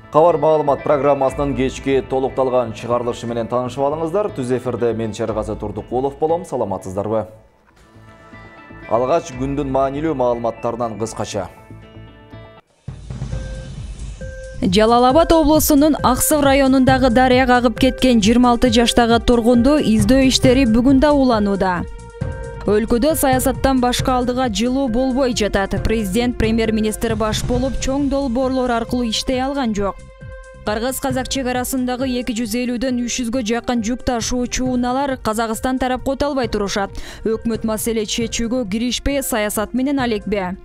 Кабар маалымат программасынын кечки толукталган чыгарылышы менен таанышып алыңыздар. Түз эфирде мен Шергаzy Турдукулов болом. Саламатсыздарбы? Алгач күндүн маанилүү маалыматтарынан кыскача. Жалал Абад облусунун Аксык районундагы дарыя кагып кеткен 26 жаштагы тургунду издөө иштери бүгүн да уланууда. Өлкөдө саясаттан башка алдыга жылуу болбой жатат. Президент премьер-министр баш болуп чоң долбоорлор аркылуу иштей алган жок. Кыргыз-казак чек арасындагы 250дөн 300гө жакын жүк ташуучу унаалар Казакстан тарап кото албай турушат. Өкмөт маселе чечүүгө киришпей, саясат менен алекпе.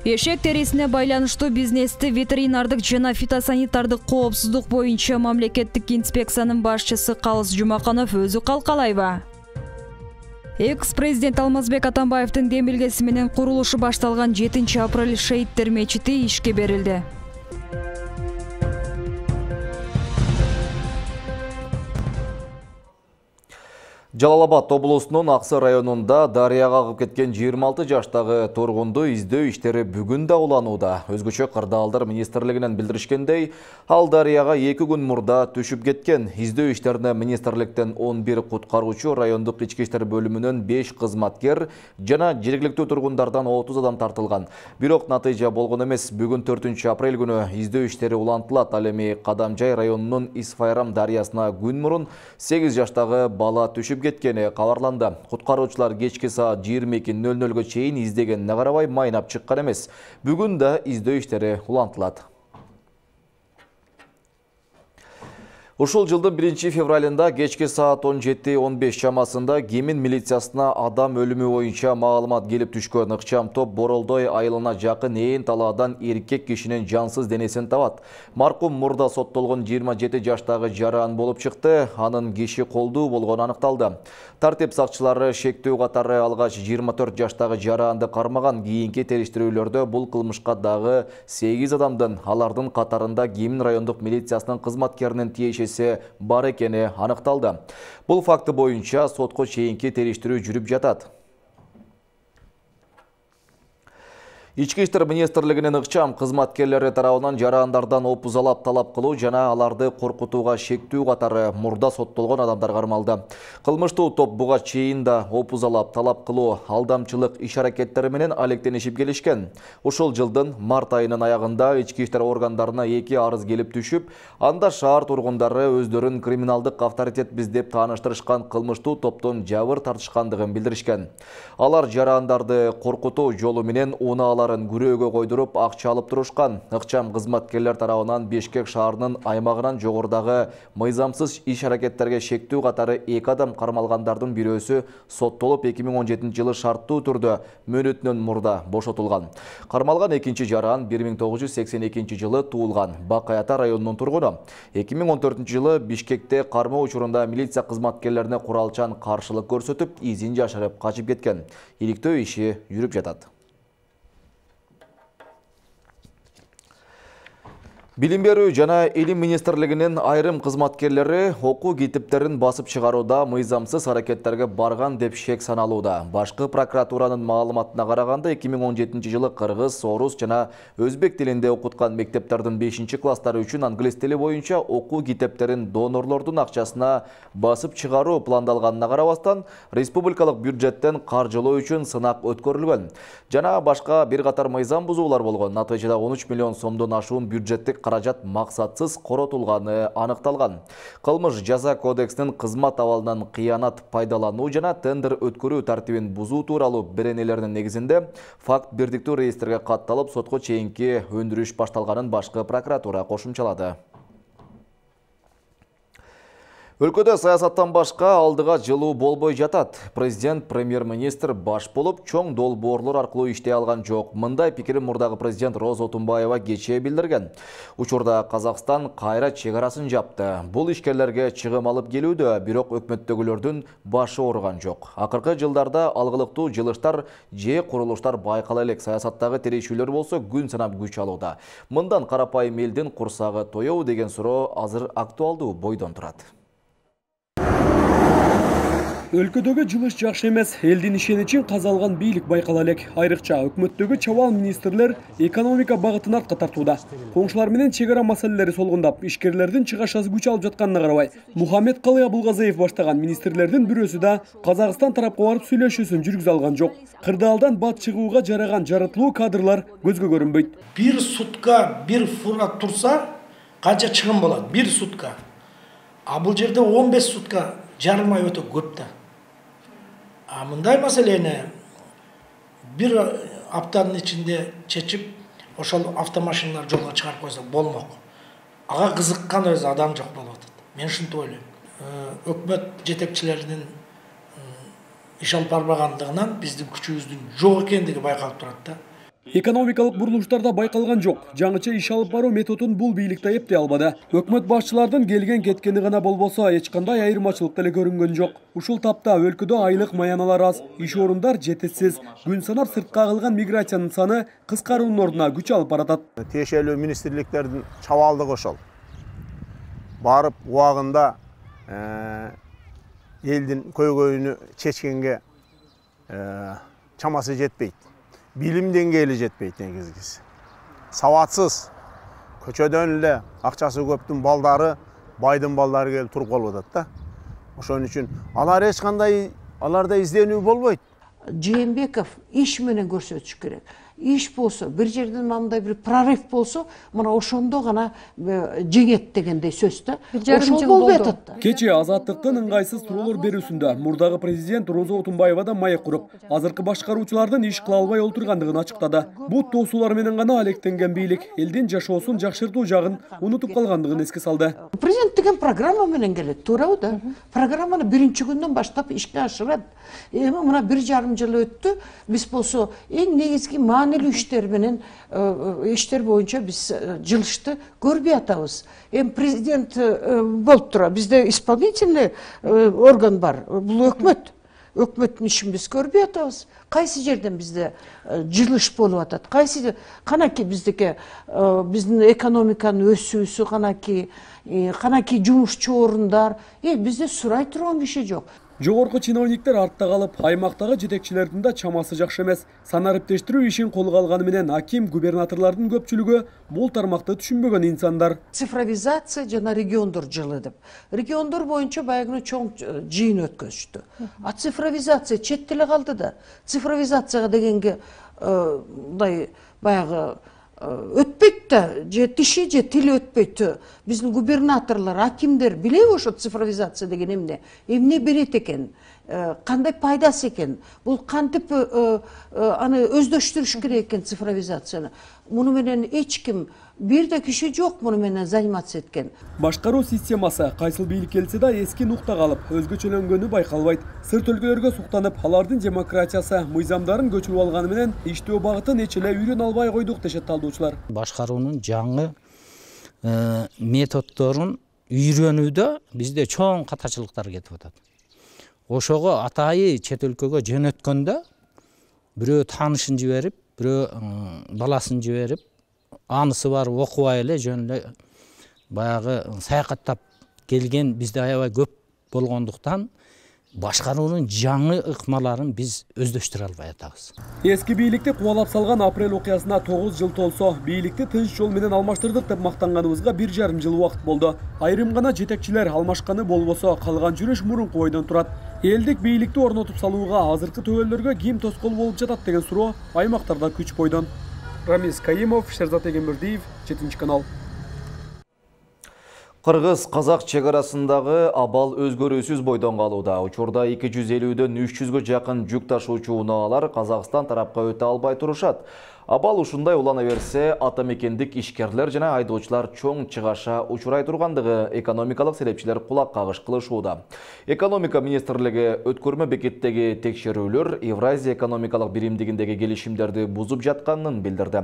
Эшек терисине байланыштуу бизнести ветеринардык жана фитосанитардык коопсуздук боюнча мамлекеттик инспекциянын башчысы Калыс Жумаканов өзү калкалайбы? Экс-президент Алмазбек Атамбаевдин демилгеси менен курулушу башталган 7-апрель Шейиттер мечити ишке берилди. Жалал Абад облусунун Аксык районунда дарыя кагып кеткен 26 жаштагы тургунду издөө иштери бүгүн да уланууда. Өзгөчө кырдаалдар министрлигинен билдиришкендей, ал дарыяга 2 күн мурда түшүп кеткен. Издөө иштерине министрликтен 11 куткаруучу, райондук ички иштер бөлүмүнөн 5 кызматкер жана жергиликтүү тургундардан 30 адам тартылган. Бирок натыйжа болгон эмес. Бүгүн 4-апрель күнү издөө иштери улантылат. Ал эми Кадамжай районунун Исфайрам дарыясына күн мурун 8 жаштагы бала түшүп кеткени кабарланды. Куткаруучулар кечки саат 22:00 чейин издегенине карабай майнап чыккан эмес. Бүгүн да издөө иштери улантылат. Ушул жылдын 1-февралында кечки саат 17:15 чамасында Кемин милициясына адам өлүмү боюнча маалымат келип түшкөн. Ыкчам топ Боролдой айылына жакын ээн талаадан эркек кишинин жансыз денесин табат. Маркум мурда соттолгон 27 жаштагы жаран болуп чыкты. Анын киши колдуу болгону аныкталды. Тартип сакчылары шектүү катары алгач 24 жаштагы жаранды кармаган. Кийинки териштирүүлөрдө бул кылмышка дагы 8 адамдын, алардын катарында Кемин райондук милициясынын кызматкеринин тиешеси бар экени аныкталды. Бул факты боюнча сотко чейинки териштирүү жүрүп жатат. Ички иштер министрлигинин ыкчам кызматкерлери тарабынан жарандардан опузалап талап кылуу жана аларды коркутууга шектүү катары мурда соттолгон адамдар кармалды. Кылмыштуу топ буга чейин да опузалап талап кылуу, алдамчылык иш-аракеттери менен алектенишип келишкен. Ушул жылдын март айынын аягында ички иштер органдарына 2 арыз келип түшүп, анда шаар тургундары өздөрүн криминалдык авторитетбиз деп тааныштырышкан кылмыштуу топтон жабыр тартышкандыгын билдиришкен. Алар жарандарды коркутуу жолу менен унаалар күрөөгө койдуруп акча алып турушкан. Ыкчам кызматкерлер тарабынан Бишкек шаарынын аймагынан жогорудагы мыйзамсыз иш-аракеттерге шектүү катары 2 адам кармалгандардын бирөөсү соттолуп 2017 жылы шарттуу түрдө мөөнөтүнөн мурда бошотулган. Кармалган экинчи жаран 1982 жылы туулган, Бак Аята районунун тургуну. 2014 жылы Бишкекте кармоо учурунда милиция кызматкерлерине куралчан каршылык көрсөтүп, изин жашырып качып кеткен. Иликтөө иши жүрүп жатат. Билим берүү жана илим министрлигинин айрым кызматкерлери окуу китептерин басып чыгарууда мыйзамсыз аракеттерге барган деп шек саналууда. Башкы прокуратуранын маалыматына караганда 2017 жылы кыргыз, орус жана өзбек тилинде окуткан мектептердин 5-класстары үчүн англис тили боюнча окуу китептерин донорлордун акчасына басып чыгаруу пландалганына карабастан, республикалык бюджеттен каржылоо үчүн сынак өткөрүлгөн. Жана башка бир катар мыйзам бузуулар болгон. Натыйжада 13 миллион сомдон ашуун бюджеттик каражат максатсыз коротулганы аныкталган. Кылмыш жаза кодексинин кызмат абалынан кыянат пайдалануу жана тендер өткөрүү тартибин бузуу тууралуу беренелеринин негизинде факт бирдиктүү реестрге катталып, сотко чейинки өндүрүш башталганын башкы прокуратура кошумчалады. Өлкөдө саясаттан башка алдыга жылуу болбой жатат. Президент, премьер-министр баш болуп чоң долбоорлор аркылуу иштей алган жок. Мындай пикирин мурдагы президент Роза Отунбаева кечээ билдирген. Учурда Казакстан кайра чек арасын жапты. Бул ишкерлерге чыгым алып келүүдө, бирок өкмөттөгүлөрдүн башы ооруган жок. Акыркы жылдарда алгылыктуу жылыштар же курулуштар байкала элек. Саясаттагы тирешүүлөр болсо күн санап күч алууда. Мындан карапайым элдин курсагы тоёбу деген суроо азыр актуалдуу бойдон турат. Өлкөдөгү жылыш жакшы эмес, элдин ишеничин казалган бийлик байкала элек. Айрыкча өкмөттөгү чабаал министрлер экономика багытын артка тартууда. Коңшулар менен чек ара маселелери солгундап, ишкерлердин чыгашасы күч алып жатканына карабай, Мухаммедкалый Абылгазыев баштаган министрлердин бирөөсү да Казакстан тарапка барып сүйлөшүүсүн жүргүзө алган жок. Кырдаалдан бат чыгууга жараган жарытлуу кадрлар көзгө көрүнбөйт. Бир сутка бир фура турса, канча чыгым болот? Бир сутка. А бул жерде 15 сутка жарым ай өтө көп да. А мындай маселени бир аптанын ичинде чечип, ошол автомашиналар жолго чыгарып койсо болмок. Ага кызыккан өзү адам жок болуп атат. Мен ушинтип ойлойм. Өкмөт жетекчилеринин иш алып барбагандыгынан биздин күчүбүздүн жок экендиги байкалып турат да. Экономикалык бурулуштарда байкалган жок. Жаңыча иш алып баруу методун бул бийликте эптей албады. Өкмөт башчылардын келген кеткени гана болбосо, эч кандай айырмачылык деле көрүнгөн жок. Ушул тапта өлкөдө айлык маяналар аз, иш орундар жетишсиз, күн санап сыртка агылган миграциянын саны кыскаруунун ордуна күч алып баратат. Тиешелүү министрликтердин чабаалдыгы ошол. Барып убагында элдин көйгөйүнү чечкенге чамасы жетпейт. Билим деңгээли жетпейт негизгиси. Сабатсыз, көчөдөн эле акчасы көптүн балдары, байдын балдары келип туруп калып атат да. Ошон үчүн алар эч кандай аларда изденүү болбойт. Жээнбеков иш менен көрсөтүш керек. Иш болсо, бир жерден мындай бир прорыв болсо, мына ошондо гана жеңет дегендей сөз да. Ошол болбой атат. Кечээ Азаттыктын ыңгайсыз туроолор берүүсүндө мурдагы президент Роза Отунбаева да маек куруп, азыркы башкаруучулардын иш кыла албай олтургандыгын ачыктады. Бут тоосуулар менен гана алектенген бийлик элдин жашоосун жакшыртуу жагын унутуп калгандыгын эске салды. Президент деген программа менен келет, туурабы да? Программаны биринчи күндөн баштап ишке ашырат. Эми мына 1,5 жыл өттү. Биз болсо эң негизги маанилүү иштер менен иштер боюнча биз жылышты көрбөй атабыз. Эми президент болуп тура, бизде исполнительный орган бар. Бул өкмөт. Өкмөттүн ишин биз көрбөй атабыз. Кайсы жерден бизде жылыш болуп атат? Кайсы канаки биздики биздин экономиканын өсүүсү канаки жумушчу орундар, бизде сурай турган киши жок. Жогорку чиновниктер артта калып, аймактагы жетекчилердин да чамасы жакшы эмес. Санариптештирүү ишин колго алганы менен аким, губернаторлордун көпчүлүгү бул тармакты түшүнбөгөн инсандар. Цифровизация жана региондор жылы деп. Региондор боюнча баягы чоң жыйын өткөзүштү. А цифровизация чет теле калды да. Цифровизацияга дегенге мындай баягы өтпөйт да, же тиши же тили өтпөйт. Биздин губернаторлор, акимдер билеби ошо цифровизация деген эмне берет экен, кандай пайдасы экен, бул кантип аны өздөштүрүш керек экен цифровизацияны. Муну менен эч ким бир да киши жок муну менен заниматься эткен. Башкаруу системасы кайсыл бийлик келсе да эски нукта калып, өзгөчөлөнгөнү байкалбайт. Сырт өлкөлөргө суктанып, алардын демократиясы, мыйзамдарын көчүрүп алганы менен иштөө багытын эч эле үйрөнө албай койдук дешет талдоочулар. Башкаруунун жаңы методдорун үйрөнүүдө бизде чоң катачылыктар кетип атат. Ошого атайы чет өлкөгө жөнөткөндө бирөө таанышын жиберип, бирөө баласын жиберип, анысы бар окубай эле жөн эле баягы саякаттап келген бизде аябай көп болгондуктан башкаруунун жаңы ыкмаларын биз өздөштүрө албай атабыз. Эски бийликти кубалап салган апрель окуясына 9 жыл толсо, бийликти тынч жол менен алмаштырдык деп мактанганыбызга 1,5 жыл убакыт болду. Айрым гана жетекчилер алмашканы болбосо, калган жүрүш мурунку бойдон турат. Элдик бийликти орнотуп салууга азыркы төбөлдөргө ким тоскоол болуп жатат деген суроо аймактарда күч бойдон. Рамис Каимов, Шерзат Эгембердиев, 7-канал. Кыргыз-Казак чек арасындагы абал өзгөрүүсүз бойдон калууда. Учурда 250дөн 300гө жакын жүк ташуучу унаалар Казакстан тарапка өтө албай турушат. Абал ушундай улана берсе, атамекендик ишкерлер жана айдоочулар чоң чыгаша учурай тургандыгы экономикалык серепчилер кулак кагыш кылышууда. Экономика министрлиги өткөрмө бекеттеги текшерүүлөр Евразия экономикалык биримдигиндеги келишимдерди бузуп жатканын билдирди.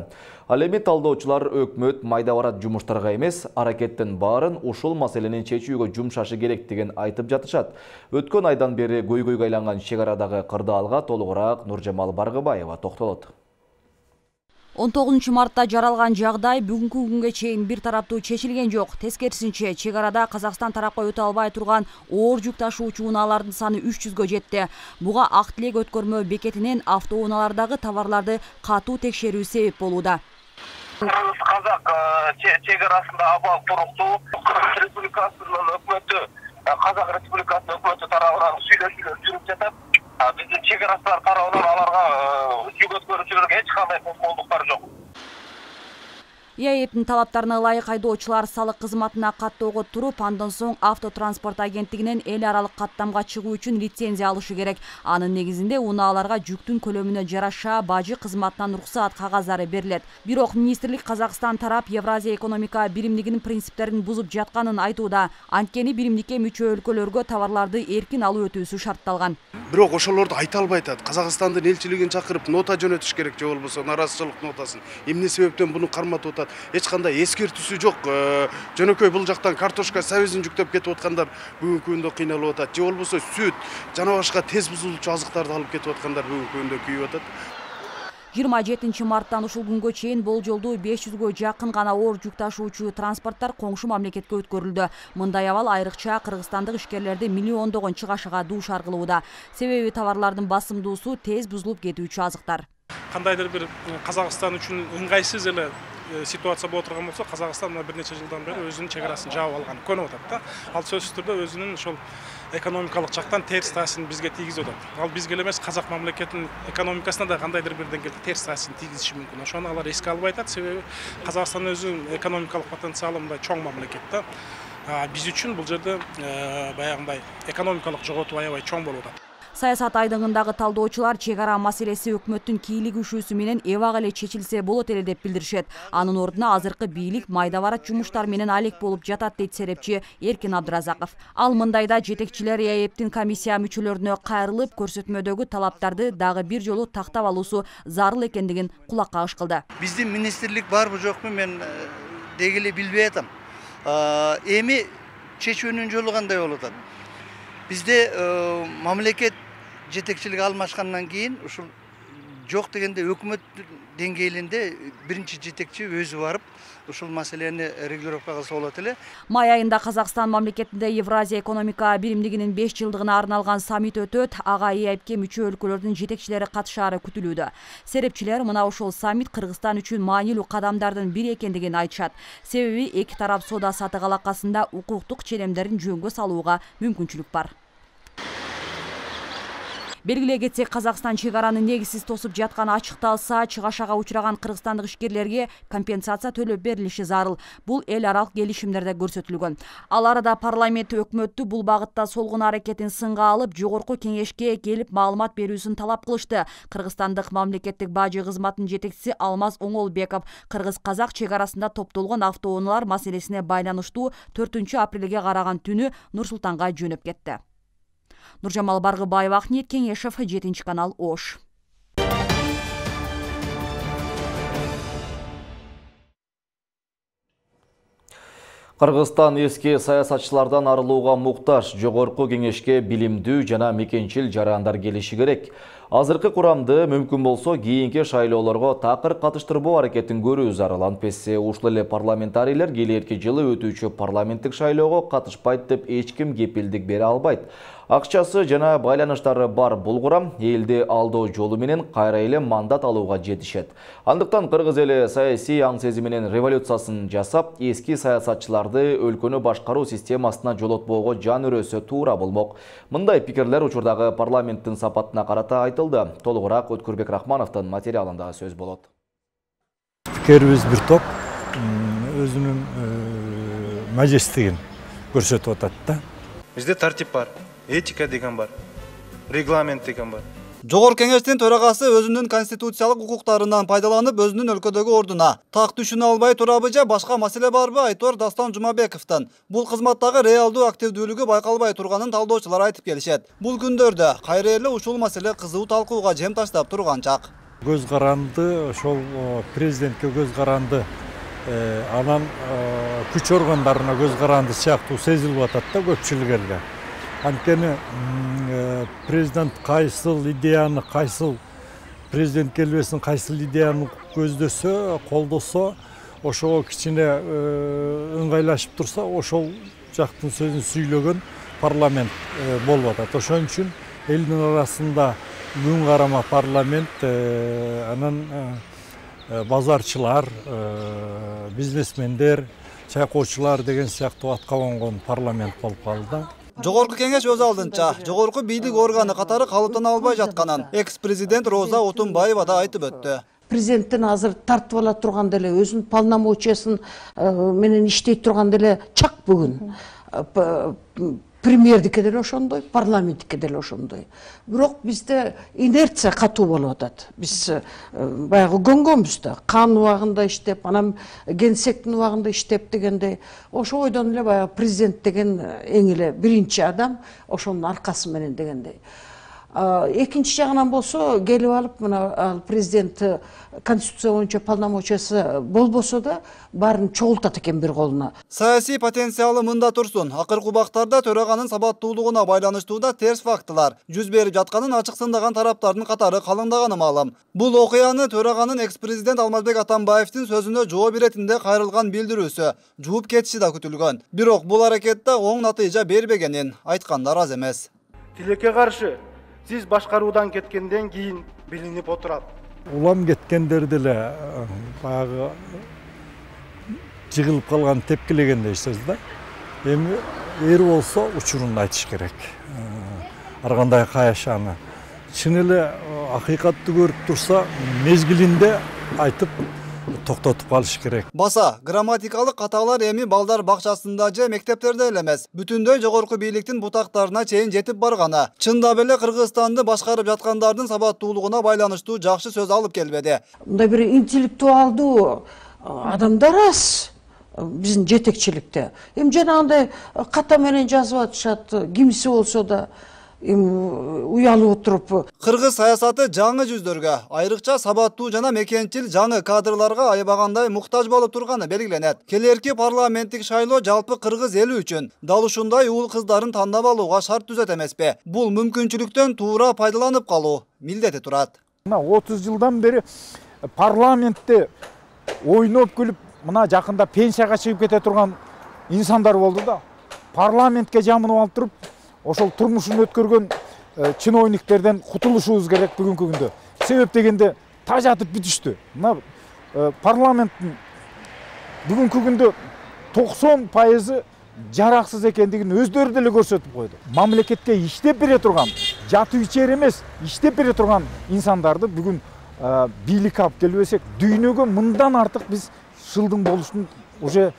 Ал эми талдоочулар өкмөт майда барат жумуштарга эмес, аракеттин баарын ушул маселени чечүүгө жумшашы керектигин айтып жатышат. Өткөн айдан бери көйгөйгө айланган чек арадагы кырдаалга толугураак Нуржамал Баргыбаева токтолот. 19 мартта жаралган жагдай бүгүнкү күнгө чейин бир тараптуу чечилген жок. Тескерисинче, чек арада Казакстан тарапка өтө албай турган оор жүк ташуучу унаалардын саны 300гө жетти. Буга Ак Тилек өткөрмө бекетинен автоунаалардагы товарларды катуу текшерүү себеп болууда. Казак чек арасында абал туруктуу Кыргыз Республикасынын өкмөтү, Казак Республикасынын өкмөтү тарабынан сүйлөшүүлөр жүрүп жатат. Биздин чек арасылар тарабынан аларга жүк өткөрүүчүлөргө эч кандай тоскоолдуктар жок. ИАЭПтин талаптарына ылайык айдоочулар салык кызматына каттоого туруп, андан соң автотранспорт агенттигинен эл аралык каттамга чыгуу үчүн лицензия алышы керек. Анын негизинде унааларга жүктүн көлөмүнө жараша бажы кызматынан уруксаат кагаздары берилет. Бирок министрлик Казакстан тарап Евразия экономика биримдигинин принциптерин бузуп жатканын айтууда. Анткени биримдикке мүчө өлкөлөргө товарларды эркин алып өтүүсү шартталган. Бирок ошолорду айта албай атат. Казакстандын элчилигин чакырып нота жөнөтүш керек же болбосо наразычылык нотасын. Эмне себептен буну карматып атат? Эч кандай эскертүүсү жок. Жөнөкөй бул жактан картошка сабизин жүктөп кетип аткандар бүгүнкү күндө кыйналып атат. Же болбосо сүт, жана башка тез бузулуучу азыктарды алып кетип аткандар бүгүнкү күндө күйүп атат. 27 марттан ушул күнгө чейин болжолдуу 500гө жакын гана оор жүк ташуучу транспорттор коңшу мамлекетке өткөрүлдү. Мындай абал айрыкча кыргызстандык ишкерлерди миллиондогон чыгашага дуушар кылууда. Себеби товарлардын басымдуусу тез бузулуп кетүүчү азыктар. Кандайдыр бир Казакстан үчүн ыңгайсыз эле ситуация боло турган болсо, Казакстан бир нече жылдан бери өзүнүн чек арасын жаап алган көнүп атат да. Ал сөзсүз түрдө өзүнүн ошол экономикалык жактан терс таасирин бизге тийгизип атат. Ал бизге эмес, казак мамлекетинин экономикасына да кандайдыр бир деңгээлде терс таасирин тийгизиши мүмкүн. Ошону алар эске албай атат, себеби Казакстан өзүнүн экономикалык потенциалы мындай чоң мамлекет да. Биз үчүн бул жерде баягындай экономикалык жоготуу аябай чоң болуп атат. Саясат айдыңындагы талдоочулар чек ара маселеси өкмөттүн кийлик үшүүсү менен эбак эле чечилсе болот эле деп билдиришет. Анын ордуна азыркы бийлик майда барат жумуштар менен алек болуп жатат дейт серепчи Эркин Абдыразаков. Ал мындайда жетекчилер ИАЭПтин комиссия мүчөлөрүнө кайрылып, көрсөтмөдөгү талаптарды дагы бир жолу тактап алуусу зарыл экендигин кулак кагыш кылды. Биздин министрлик барбы жокпу мен деги эле билбей атам. Эми чечүүнүн жолу кандай болуп атат? Бизде мамлекет жетекчилиги алмашкандан кийин ушул жок дегенде өкмөт деңгээлинде биринчи жетекчи өзү барып ушул маселени регулировка кылса болот эле. Май айында Казакстан мамлекетинде Евразия экономика биримдигинин 5 жылдыгына арналган саммит өтөт. Ага ИАЭПке мүчө өлкөлөрдүн жетекчилери катышаары күтүлүүдө. Серепчилер мына ошол саммит Кыргызстан үчүн маанилүү кадамдардын бири экендигин айтышат. Себеби эки тарап соода сатык алакасында укуктук ченемдерин жөнгө салууга мүмкүнчүлүк бар. Белгилей кетсек, Казакстан чек араны негизсиз тосуп жатканы ачыкталса, чыгашага учураган кыргызстандык ишкерлерге компенсация төлөп берилиши зарыл. Бул эл аралык келишимдерде көрсөтүлгөн. Ал арада парламент өкмөттү бул багытта солгун аракетин сынга алып, жогорку кеңешке келип маалымат берүүсүн талап кылышты. Кыргызстандык мамлекеттик бажы кызматынын жетекчиси Алмаз Оңолбеков кыргыз-казак чек арасында топтолгон автоунаалар маселесине байланыштуу 4-апрелге караган түнү Нур-Султанга жөнөп кетти. Нуржамал Баргыбаева, Ахмет Кеңешев, 7-канал, Ош. Кыргызстан эски саясатчылардан арылууга муктаж. Жогорку кеңешке билимдүү жана мекенчил жарандар келиши керек. Азыркы курамды мүмкүн болсо кийинки шайлоолорго такыр катыштырбоо аракетин көрүү зарыл. Антпесе ушул эле парламентарийлер келерки жылы өтүүчү парламенттик шайлоого катышпайт деп эч ким кепилдик бере албайт. Акчасы жана байланыштары бар бул курам элди алдоо жолу менен кайра эле мандат алууга жетишет. Андыктан кыргыз эли саясий аң сезими менен революциясын жасап, эски саясатчыларды өлкөнү башкаруу системасына жолотпоого жан өрөсө туура болмок. Мындай пикирлер учурдагы парламенттин сапатына карата айтылды. Толугураак Өткүрбек Рахмановдун материалында сөз болот. Пикирибиз бир топ өзүнүн мажестигин көрсөтүп атат да. Бизде тартип бар, этика деген бар, регламент деген бар. Жогорку кеңештин төрагасы өзүнүн конституциялык укуктарынан пайдаланып, өзүнүн өлкөдөгү ордуна так түшүнө албай турабы же башка маселе барбы Айтор Дастан Жумабековдон бул кызматтагы реалдуу активдүүлүгү байкалбай турганын талдоочулар айтып келишет. Бул күндөрдө кайра эле ушул маселе кызуу талкууга жем таштап турган чак. Көз каранды, ошол президентке көз каранды, анан күч органдарына көз каранды сыяктуу сезилип атат да көпчүлүк элде. Анткени президент кайсыл идеяны, кайсыл президент келбесин кайсыл идеяны көздөсө, колдосо, ошого кичине ыңгайлашып турса, ошол жактын сөзүн сүйлөгөн парламент болуп атат. Ошон үчүн элдин арасында күн карама парламент, анан базарчылар, бизнесмендер, чайкоочулар деген сыяктуу атка конгон парламент болуп калды. Жогорку кеңеш өз алдынча жогорку бийлик органы катары калыптана албай жатканын экс-президент Роза Отунбаева да айтып өттү. Президенттин азыр тартып ала турган деле өзүнүн полномочиясын менен иштей турган деле чак бүгүн. Премьердике деле ошондой, парламенттике деле ошондой. Бирок бизде инерция катуу болуп атат. Биз баягы көнгөнбүз да, кан убагында иштеп, анан генсектин убагында иштеп дегендей. Ошо ойдон эле баягы президент деген эң эле биринчи адам, ошонун аркасы менен дегендей. Экинчи жагынан болсо, келип алып, мына президент конституция боюнча полномочиясы болбосо да, баарын чогултат экен бир колуна. Саясий потенциалы мында турсун. Акыркы убактарда төраганын сабаттуулугуна байланыштуу да терс фактылар жүз берип жатканын ачыксындаган тараптардын катары калыңдаганы маалым. Бул окуяны төраганын экс-президент Алмазбек Атамбаевдин сөзүнө жооп беретинде кайрылган билдирүүсү жууп кетиши да күтүлгөн. Бирок бул аракетте оң натыйжа бербегенин айткандар аз эмес. Тилекке каршы сиз башкаруудан кеткенден кийин билинип отурат. Улам кеткендер деле баягы жыгылып калган тепкилегендей сөз да. Эми эр болсо учурун айтыш керек. Ар кандай каяшаны. Чын эле акыйкатты көрүп турса, мезгилинде айтып токтотуп калыш керек. Баса, грамматикалык каталар эми балдар бакчасында же мектептерде эле эмес, бүтүндөй жогорку бийликтин бутактарына чейин жетип барганы. Чындап эле Кыргызстанды башкарып жаткандардын сабаттуулугуна байланыштуу жакшы сөз алып келбеди. Мындай бир интеллектуалдуу адамдар аз биздин жетекчиликте. Эми жанагындай ката менен жазып атышат, кимиси болсо да уялып отуруп. Кыргыз саясаты жаңы жүздөргө, айрыкча сабаттуу жана мекенчил жаңы кадрларга аябагандай муктаж болуп турганы белгиленет. Келерки парламенттик шайлоо жалпы кыргыз эли үчүн дал ушундай уул кыздарын тандап алууга шарт түзөт эмеспи? Бул мүмкүнчүлүктөн туура пайдаланып калуу милдети турат. Мына 30 жылдан бери парламентте ойноп күлүп, мына жакында пенсияга чыгып кете турган инсандар болду да. Парламентке жамынып алып туруп, ошол турмушун өткөргөн чиновниктерден кутулушубуз керек бүгүнкү күндө. Себеп дегенде тажатып бүтүштү. Мына парламенттин бүгүнкү күндө 90% жараксыз экендигин өздөрү деле көрсөтүп койду. Мамлекетке иштеп бере турган, жатып ичер эмес, иштеп бере турган инсандарды бүгүн бийликке алып келбесек, дүйнөгө мындан артык биз шылдың болушун уже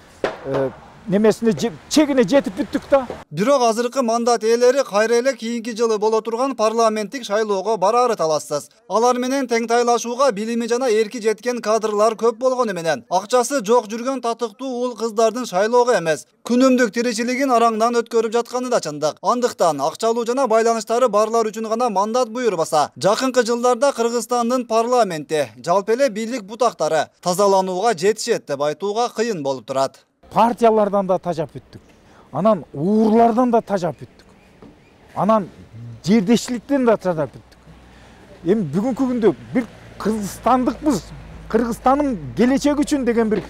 немесине чегине жетип бүттүк да. Бирок азыркы мандат ээлери кайра эле кийинки жылы боло турган парламенттик шайлоого бараары талассыз. Алар менен тең тайлашууга билими жана эрки жеткен кадрлар көп болгону менен акчасы жок жүргөн татыктуу уул кыздардын шайлоого эмес, күнүмдүк тиричилигин араңдан өткөрүп жатканы да чындык. Андыктан акчалуу жана байланыштары барлар үчүн гана мандат буйрбаса, жакынкы жылдарда Кыргызстандын парламенти, жалпы эле бийлик бутактары тазаланууга жетишет деп айтууга кыйын болуп турат. Партиялардан да тажап бүттүк. Анан уурлардан да тажап бүттүк. Анан жердешчиликтен да тажап бүттүк. Эми бүгүнкү күндө бир кыргызстандыкпыз, Кыргызстандын келечеги үчүн деген бир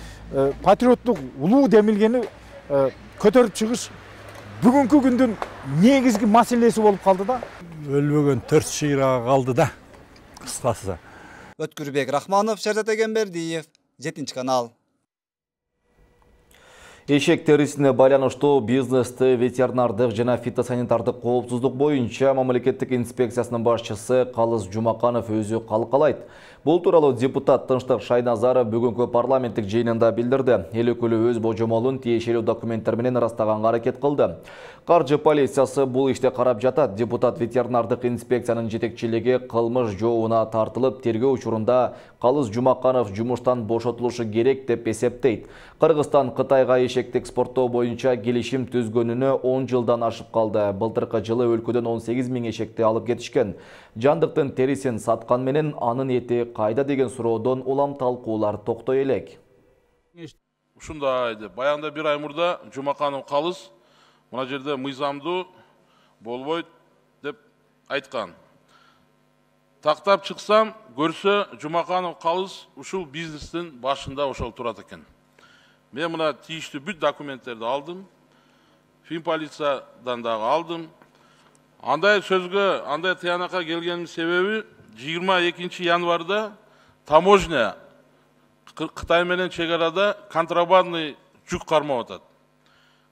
патриоттук улуу демилгени көтөрүп чыгыш бүгүнкү күндүн негизги маселеси болуп калды да. Өлбөгөн 4 шыйрага калды да. Кыскасы. Өткүрбек Рахманов, Шерзат Эгембердиев, 7-канал. Эшек терисине байланыштуу бизнести ветеринардык жана фитосанитардык коопсуздук боюнча мамлекеттик инспекциясынын башчысы Калыс Жумаканов өзү калкалайт. Бул тууралуу депутат Тынчтык Шайназаров бүгүнкү парламенттик жыйынында билдирди. Эл өкүлү өз божомолун тиешелүү документтер менен ырастаганга аракет кылды. Каржы полициясы бул иште карап жатат. Депутат ветеринардык инспекциянын жетекчилиги кылмыш жообуна тартылып, тергөө учурунда Калыс Жумаканов жумуштан бошотулушу керек деп эсептейт. Кыргызстан Кытайга эшекти экспорттоо боюнча келишим түзгөнүнө 10 жылдан ашып калды. Былтыркы жылы өлкөдөн 18 000 эшекти алып кетишкен. Жандыктын терисин саткан менен анын эти кайда деген суроодон улам талкуулар токтой элек. Ушундай деп баягында бир ай мурда Жумаканов Калыс мына жерде мыйзамдуу болбойт деп айткан. тактап чыксам, көрсө Жумаканов Калыс ушул бизнестин башында ошол турат экен. Мен мына тийиштүү бүт документтерди алдым. Финполициядан дагы алдым. Андай сөзгө, андай тыянакка келгеним себеби 22 январда таможня Кытай менен чегарада контрабандный жүк кармап атат.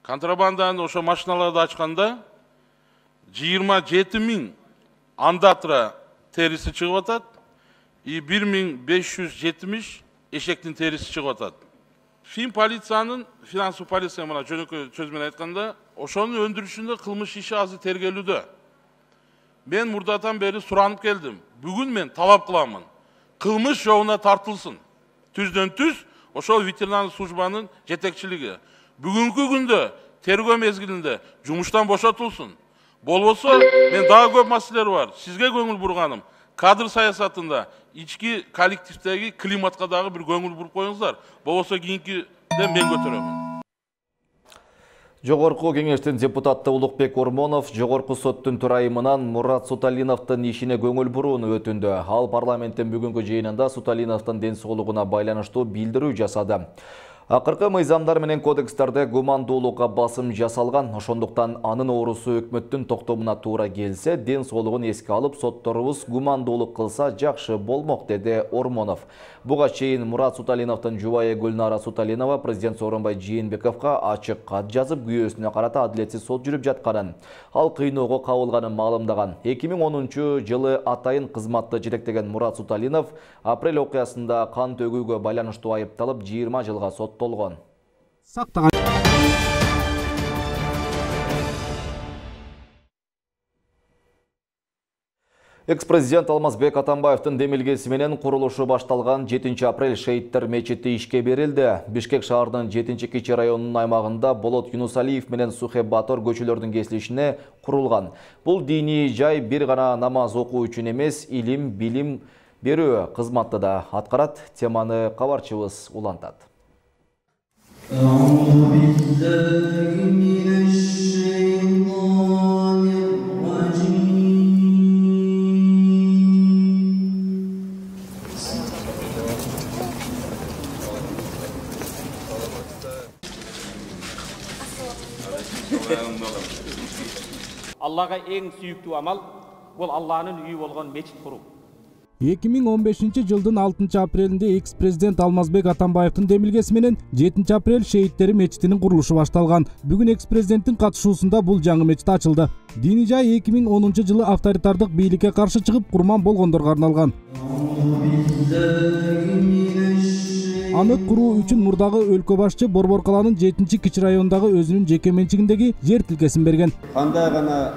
Контрабанданы ошо машиналарды ачканда 27 000 андатра териси чыгып атат, 1570 эшектин териси чыгып атат. Финполициянын, финансовый полиция мына жөнөкөй сөз менен айтканда, ошонун өндүрүшүндө кылмыш иши азыр тергелүүдө. Мен мурдатан бери суранып келдим. Бүгүн мен талап кыламын. Кылмыш жолуна тартылсын. Түздөн түз ошол ветеринардык службанын жетекчилиги. Бүгүнкү күндө тергөө мезгилинде жумуштан бошотулсын. Болбосо мен дагы көп маселелер бар. Сизге көңүл бурганым. Кадр саясатында ички коллективдеги климатка дагы бир көңүл буруп коюңуздар. Болбосо кийинкиде мен көтөрөмүн. Жогорку кеңештин депутаты Улукбек Ормонов Жогорку соттун төрайымынан Мурат Суталиновдун ишине көңүл бурууну өтүндү. Ал парламенттин бүгүнкү жыйынында Суталиновдун ден соолугуна байланыштуу билдирүү жасады. Акыркы мыйзамдар менен кодекстерде гумандуулукка басым жасалган, ошондуктан анын оорусу өкмөттүн токтомуна туура келсе, ден соолугун эске алып, сотторубуз гумандуулук кылса жакшы болмок, деди Ормонов. Буга чейин Мурат Суталиновдун жубайы Гүлнара Суталинова президент Сооронбай Жээнбековго ачык кат жазып, күйөөсүнө карата адилетсиз сот жүрүп жатканын, ал кыйноого кабылганын маалымдаган. 2010-жылы атайын кызматты жетектеген Мурат Суталинов апрель окуясында кан төгүүгө байланыштуу айыпталып 20 жылга соттолгон. Экс-президент Алмазбек Атамбаевдин демилгеси менен курулушу башталган 7 апрель шейиттер мечити ишке берилди. Бишкек шаарынын 7-кичи районунун аймагында Болот Юнусалиев менен Сухе Батор көчөлөрдүн кесилишине курулган. Бул диний жай бир гана намаз окуу үчүн эмес, илим, билим берүү кызматты да аткарат. Теманы кабарчыбыз улантат. Аллага эң сүйүктүү амал бул Алланын үйү болгон мечит куруу. 2015-жылдын 6 апрелинде экс-президент Алмазбек Атамбаевдин демилгеси менен 7 апрель шейиттери мечитинин курулушу башталган. Бүгүн экс-президенттин катышуусунда бул жаңы мечит ачылды. Дини жай 2010-жылы авторитардык бийликке каршы чыгып курман болгондорго арналган. Аны куруу үчүн мурдагы өлкө башчы Борбор каланын 7-кичи райондагы өзүнүн жеке менчигиндеги жер тилкесин берген. Кандай гана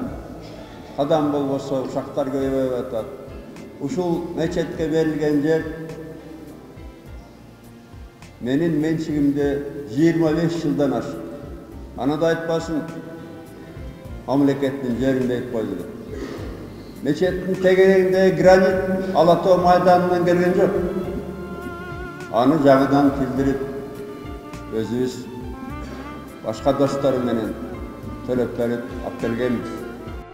адам болбосо ушактар көбөйүп атат. Ушул мечетке берилген жер менин менчигимде 25 жылдан ашык. Аны да айтпасын, мамлекеттин жерин берип койду. Мечеттин тегерегинде гранит Ала Тоо майданынан келген жок. Аны жаңыдан тилдирип, өзүбүз башка достору менен төлөп берип алып келгенбиз.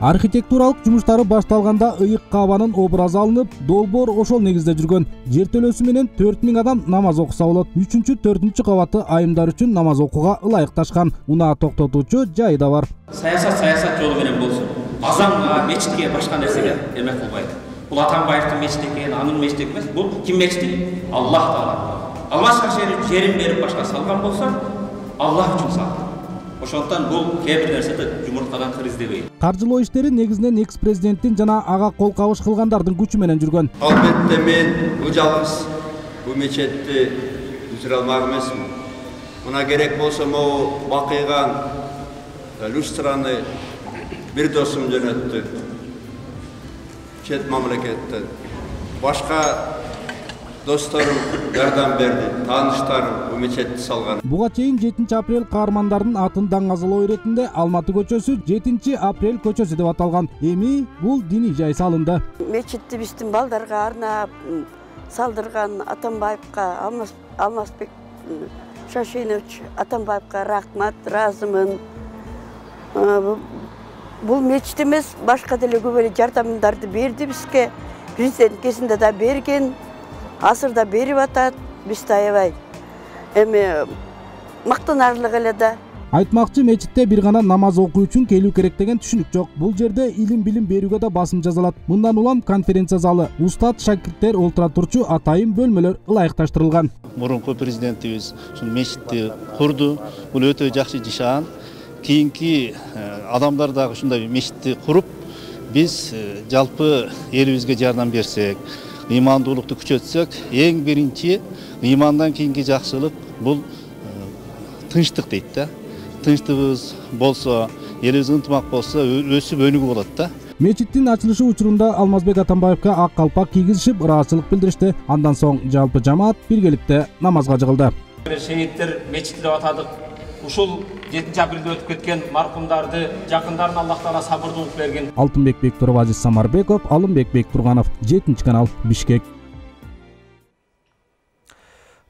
Архитектуралык жумуштары башталганда ыйык каабанын образы алынып, долбоор ошол негизде жүргөн. Жер төлөөсү менен 4000 адам намаз окуса болот. 3-4 кабаты айымдар үчүн намаз окууга ылайыкташкан. Унаа токтотуучу жайы да бар. Саясат жолу менен болсун. Азан мечитке башка нерсеге эмек кылбайт. Бул Атамбаевдин мечити экен, анын мечити эмес. Бул ким мечити? Аллах Таала. Аллах жерин берип башка салган болсо, Аллах үчүн салган. Ошондон бул кээ бир нерседе жумурткадан кыр издебейт. Каржылоо иштери негизинен экс-президенттин жана ага кол кабыш кылгандардын күчү менен жүргөн. Албетте мен жалгыз бул мечетти бүтүрө алмак эмесмин. Мына керек болсо могу бакыйган люстраны бир досум жөнөттү. Чет мамлекеттен. Башка досторум жардам берди, тааныштарым бул мечетти салган. Буга чейин 7 апрель каармандардын атын даңазалоо иретинде Алматы көчөсү 7 апрель көчөсү деп аталган. Эми бул диний жай салынды. Мечитти биздин балдарга арнап салдырган Атамбаевка, Алмазбек Шашенович Атамбаевка рахмат, ыраазымын. Бул мечит эмес, башка деле көп эле жардамдарды берди бизге. президент кезинде да берген, азырда берип атат, биз аябай эми мактанарлык эле да. Айтмакчы, мечитте бир гана намаз окуу үчүн келүү керек деген түшүнүк жок. Бул жерде илим билим берүүгө да басым жасалат. Мындан улам конференция залы, устат шакирттер олтура турчу атайын бөлмөлөр ылайыкташтырылган. Мурунку президентибиз ушул мечитти курду. Бул өтө жакшы жашаан. Кийинки адамдар дагы ушундай мечитти куруп, биз жалпы элибизге жардам берсек, ыймандуулукту күчөтсөк, эң биринчи ыймандан кийинки жакшылык бул тынчтык дейт да. Тынчтыгыбыз болсо, элибиз ынтымак болсо, өсүп өнүгүү болот да. Мечиттин ачылышы учурунда Алмазбек Атамбаевка ак калпак кийгизишип, ыраазычылык билдиришти. Андан соң жалпы жамаат биргеликте намазга жыгылды. Шейиттер мечити деп атадык. Ушул 7 апрелде өтүп кеткен маркумдарды, жакындарын Аллах Таала сабырдуулук берген. Алтынбек Бектуров, Азиз Самарбеков, Алымбек Бектурганов, 7 канал, Бишкек.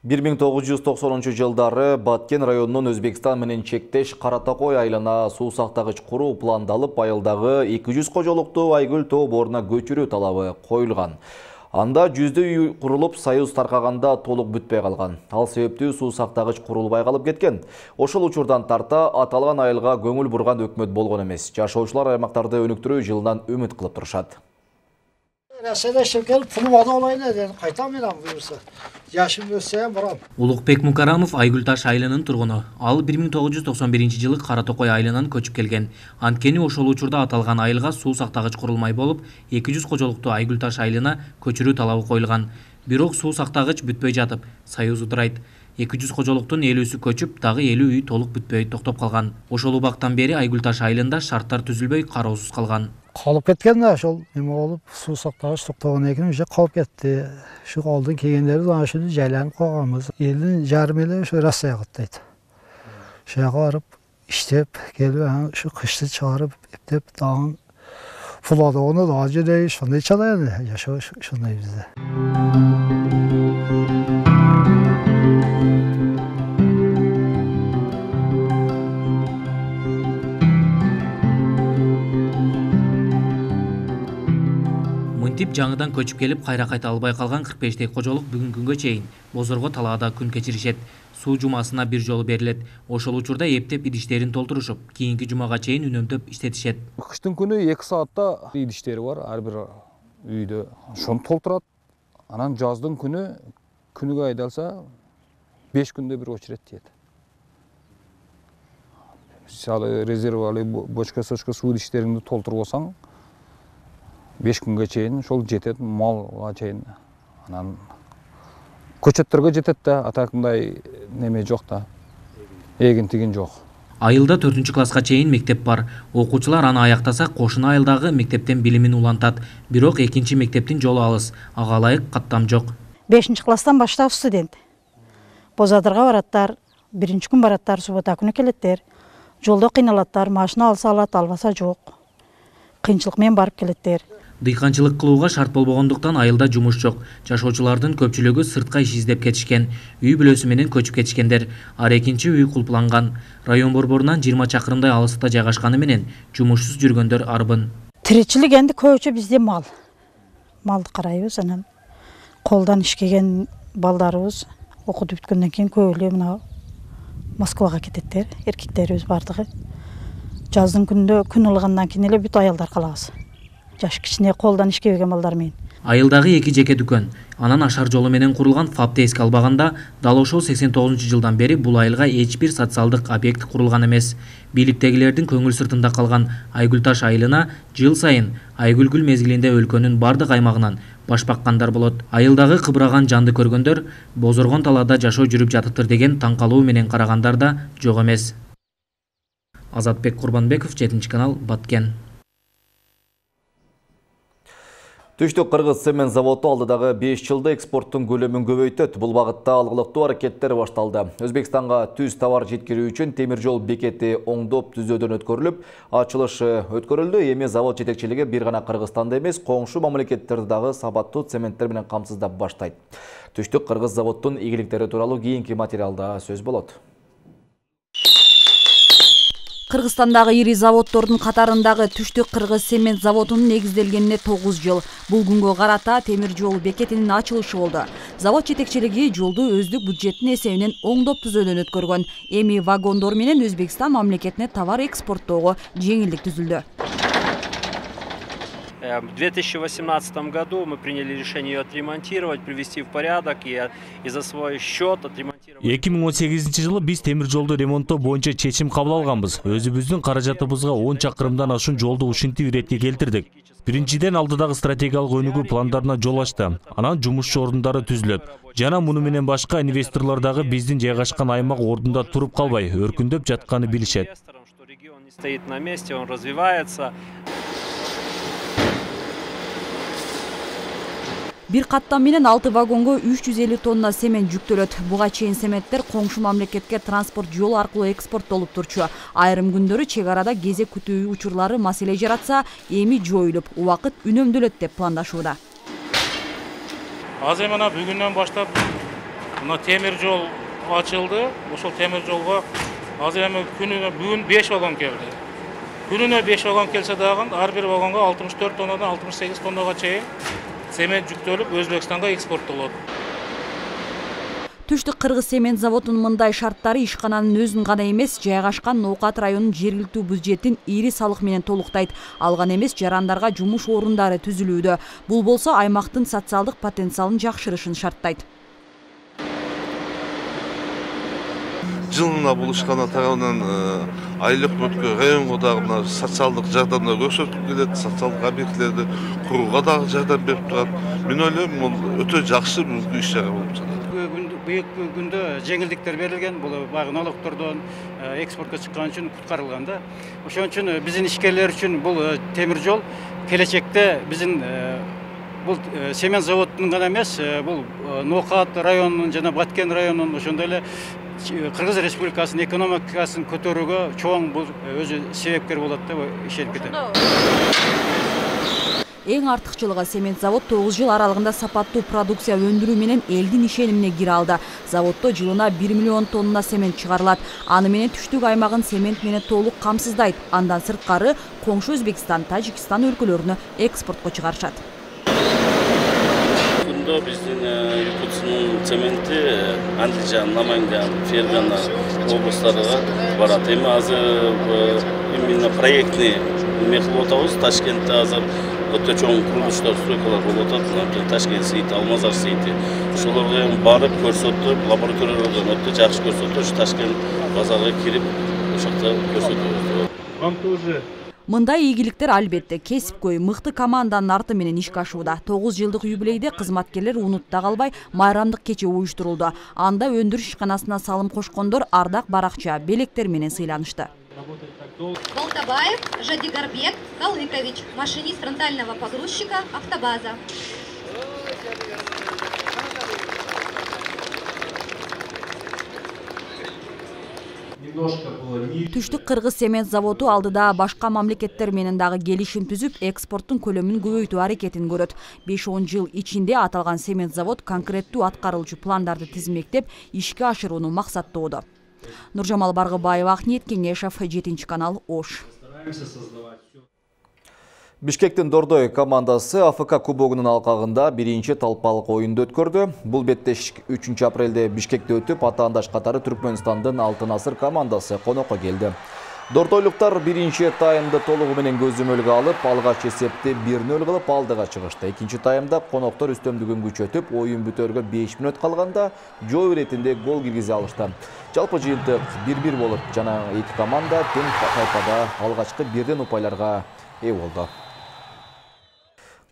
1990 жылдары Баткен районунун Өзбекстан менен чектеш Каратакой айылына суу сактагыч куруу пландалып, айылдагы 200 кожолукту Айгүл тоо боруна көчүрүү талабы коюлган. Анда жүздөй үй курулуп, союз таркаганда толук бүтпөй калган. Ал себептүү суу сактагыч курулбай калып кеткен. Ошол учурдан тарта аталган айылга көңүл бурган өкмөт болгон эмес. Жашоочулар аймактарды өнүктүрүү жылынан үмүт кылып турушат. Улукбек Мукарамов Айгүл таш айылынын тургуну. Ал 1991 жылы Каратокой айылынан көчүп келген. Анткени ошол учурда аталган айылга суу сактагыч курулмай болуп, 200 кожолукту Айгүл таш айылына көчүрүү талабы коюлган. Бирок суу сактагыч бүтпөй жатып, союз удурайт. 200 кожолуктун 50сү көчүп, дагы 50 үй толук бүтпөй токтоп калган. Ошол убактан бери Айгүл таш айылында шарттар түзүлбөй, кароосуз калган. Қалып кеткен да, ошол неме болуп, суу сактагыч токтогон экен, уже калып кетти. Шу алдын келгендерибиз ана ушуну жайланып калганбыз. Элдин жарымы эле ошо Россия каттайт. Ошол жака барып иштеп келип, ушу кышты чыгарып, эптеп дагы фуладону дагы жөнөй ошондой чала эле жашоо ошондой бизде. Мынтип жаңыдан көчүп келип, кайра кайта албай калган 45 кожолук бүгүнкү күнгө чейин Бозорго талаада күн кечиришет. Суу жумасына бир жолу берилет. Ошол учурда эптеп идиштерин толтурушуп, кийинки жумага чейин үнөмдөп иштетишет. Кыштын күнү 2 саатта идиштери бар, ар бир үйдө. Ошону толтурат. Анан жаздын күнүгө айдалса 5 күндө бир очерет тиет. Салы резервалы бочка-сочка суу идиштериңди толтуруп алсаң, 5 күнгө чейин ошол жетет, малга чейин. Анан көчөттөргө жетет да, атакындай неме жок да. Эгин-тигин жок. Айылда 4-класска чейин мектеп бар. Окуучулар аны аяктаса, кошуна айылдагы мектептен билимин улантат. Бирок 2-чи мектептин жолу алыс, ага ылайык каттам жок. 5-класстан баштап студент. Бозадырга бараттар, 1-күн бараттар, суббота күнү келеттер. Жолдо кыйналаттар, машина алса алат, албаса жок. Кыйынчылык менен барып келеттер. Дыйканчылык кылууга шарт болбогондуктан айылда жумуш жок. Жашоочулардын көпчүлүгү сыртка иш издеп кетишкен. Үй бүлөсү менен көчүп кетишкендер. Ар 2-чи үй кулпланган. Район борборунан 20 чакырымдай алыста жайгашканы менен жумушсуз жүргөндөр арбын. Тиричилик энди көбүнчө бизде мал. Малды карайбыз, анан колдон иш келген балдарыбыз окутуп бүткөндөн кийин көбү мына Москвага кететтер, эркектерибиз бардыгы. Жаздын күндө күн ылгандан кийин эле бүт аялдар калабыз. Жаш кичине колдон ишке келген балдар менен. Айылдагы 2 жеке дүкөн, анан ашар жолу менен курулган ФАПты эске албаганда, дал ошол 89-жылдан бери бул айылга эч бир социалдык объект курулган эмес. Бийликтегилердин көңүл сыртында калган Айгүл таш айылына жыл сайын Айгүл мезгилинде өлкөнүн бардык аймагынан баш баккандар болот. Айылдагы кыбыраган жанды көргөндөр Бозоргон талаада жашоо жүрүп жатыптыр деген таң калуу менен карагандар да жок эмес. Азатбек Курбанбеков, 7 канал, Баткен. Түштүк Кыргыз цемент заводу алдыдагы 5 жылда экспорттун көлөмүн көбөйтөт. Бул багытта алгылыктуу аракеттер башталды. Өзбекстанга түз товар жеткирүү үчүн темир жол бекети оңдоп түзөөдөн өткөрүлүп, ачылышы өткөрүлдү. Эми завод жетекчилиги бир гана Кыргызстанды эмес, коңшу мамлекеттерди дагы сабаттуу цементтер менен камсыздап баштайт. Түштүк Кыргыз заводдун ийгиликтери тууралуу кийинки материалда сөз болот. Кыргызстандагы ири заводдордун катарындагы Түштүк Кыргыз цемент заводунун негизделгенине 9 жыл. Бул күнгө карата темир жол бекетинин ачылышы болду. Завод жетекчилиги жолду өздүк бюджеттин эсебинен оңдоп түзүүдөн өткөргөн. Эми вагондор менен Өзбекстан мамлекетине товар экспорттоого жеңилдик түзүлдү. В 2018 году мы приняли решение ее отремонтировать, привести в порядок и за свой счет отремонтировать. 2018 жылы биз темир жолду ремонттоо боюнча чечим кабыл алганбыз. Өзүбүздүн каражатыбызга 10 чакырымдан ашуун жолду ушинтип иретке келтирдик. Биринчиден алдыдагы стратегиялык өнүгүү пландарына жол ачты. Анан жумушчу ордундары түзүлөт. Жана муну менен башка инвесторлор дагы биздин жайгашкан аймак ордунда туруп калбай, өркүндөп жатканы билишет. Регион не стоит на месте, он развивается. Бир каттам менен 6 вагонго 350 тонна семент жүктөлөт. Буга чейин сементтер коңшу мамлекетке транспорт жолу аркылуу экспорттолуп турчу. Айрым күндөрү чек арада кезек күтүү учурлары маселе жаратса, эми жоюлуп, убакыт үнөмдөлөт деп пландашууда. Азыр мына бүгүндөн баштап мына темир жол ачылды. Ошол темир жолго азыр эми күнүнө бүгүн 5 вагон келди. Күнүнө 5 вагон келсе дагы ар бир вагонго 64 тоннадан 68 тоннага чейин семент жүктөлүп Өзбекстанга экспорттолот. Түштүк Кыргыз цемент заводунун мындай шарттары ишкананын өзүн гана эмес, жайгашкан Ноокат районунун жергиликтүү бюджетин ири салык менен толуктайт. Алган эмес жарандарга жумуш орундары түзүлүүдө. Бул болсо аймактын социалдык потенциалын жакшырышын шарттайт. Жылына бул ишкана тарабынан айлык өткө районго дагы социалдык жардамдар көрсөтүп келет, социалдык объектилерди курууга дагы жардам берип турат. Мен ойлойм, бул өтө жакшы бир иш чара болуп жатат. Бүгүнкү күндө жеңилдиктер берилген, бул баягы налогтордон экспортко чыккан үчүн куткарылган да. Ошон үчүн биздин ишкерлер үчүн бул темир жол келечекте биздин бул семент заводунун гана эмес, бул Ноокат районунун жана Баткен районунун ошондой эле Кыргыз Республикасынын экономикасын көтөрүүгө чоң бул өзү себепкер болот деп ишенип кетем. Эң артыкчылыгы цемент завод 9 жыл аралыгында сапаттуу продукция өндүрүү менен элдин ишенимине кире алды. Заводдо жылына 1 миллион тонна цемент чыгарылат. Аны менен Түштүк аймагын цемент менен толук камсыздайт. Андан сырткары коңшу Өзбекстан, Тажикстан өлкөлөрүнө экспортко чыгарышат. Биздин Якутскунун цементи Андижан, Наманган, Фергана облустарына барат. Эми азыр именно проектный эме кылып атабыз. Ташкентте азыр өтө чоң курулуштар, стройкалар болуп атат. Ташкент сейити, Алмазар сейити. Ошолорго барып көрсөтүп, лабораториялардан өтө жакшы көрсөтүп, ушу Ташкент базарга кирип, ошокто көрсөтөбүз. Мындай ийгиликтер албетте кесипкөй мыкты команданын арты менен ишке ашууда. 9 жылдык юбилейде кызматкерлер унутта калбай майрамдык кече уюштурулду. Анда өндүрүш ишканасына салым кошкондор ардак баракча белектер менен сыйланышты. Болтабаев Жадигарбек Калыкович, машинист фронтального погрузчика автобаза. Түштүк Кыргыз цемент заводу алдыда башка мамлекеттер менен дагы келишим түзүп, экспорттун көлөмүн көбөйтүү аракетин көрөт. 5-10 жыл ичинде аталган цемент завод конкреттүү аткарылчу пландарды тизмектеп, ишке ашырууну максаттоодо. Нуржамал Баргыбаева, Ахниет Кеңешев, 7 канал, Ош. Бишкектин Дордой командасы АФК кубогунун алкагында биринчи талпалык оюнду өткөрдү. Бул бетте 3 апрелде Бишкекте өтүп, атаандаш катары Түркмөнстандын Алтын Асыр командасы конокко келди. Дордойлуктар биринчи таймды толугу менен көзөмөлгө алып, алгач эсепти 1-0 кылып алдыга чыгышты. Экинчи таймда коноктор үстөмдүгүн күчөтүп, оюн бүтөргө 5 мүнөт калганда жоо иретинде гол киргизе алышты. Жалпы жыйынтык 1-1 болуп, жана эки команда тең тайпада алгачкы бирден упайларга ээ болду.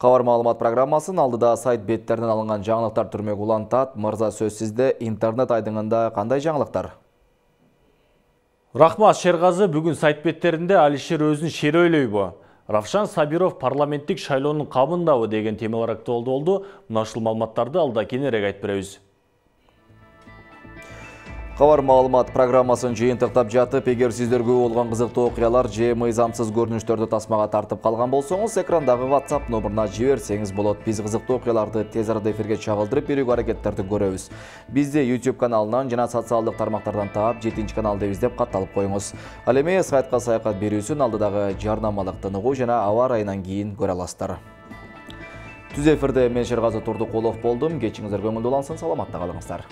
Кабар маалымат программасын алдыда сайт беттеринен алынган жаңылыктар түрмөк улантат. Мырза, сөз сизде. Интернет айдыңында кандай жаңылыктар? Рахмат, Шергазы. Бүгүн сайт беттеринде Алишер өзүн шери ойлойбу? Равшан Сабиров парламенттик шайлоонун камындабы деген темалар актуалдуу болду. Мына ушул маалыматтарды алда кененирээк айтып беребиз. Кабар маалымат программасын жыйынтыктап жатып, эгер сиздерге болгон кызыктуу окуялар же мыйзамсыз көрүнүштөрдү тасмага тартып калган болсоңуз, экрандагы WhatsApp номуруна жиберсеңиз болот. Биз кызыктуу окуяларды тез арада эфирге чагылдырып берүүгө аракеттерди көрөбүз. Бизди YouTube каналынан жана социалдык тармактардан таап, 7-каналды издеп катталып коюңуз. Ал эми сайтка саякат берүүсүн алдыдагы жарнамалык тыныгуу жана аба ырайынан кийин көрө аласыздар. Түз эфирде мен Шергазы Турдукулов болдум. Кечиңиздер көңүлдүү улансын, саламатта калыңыздар.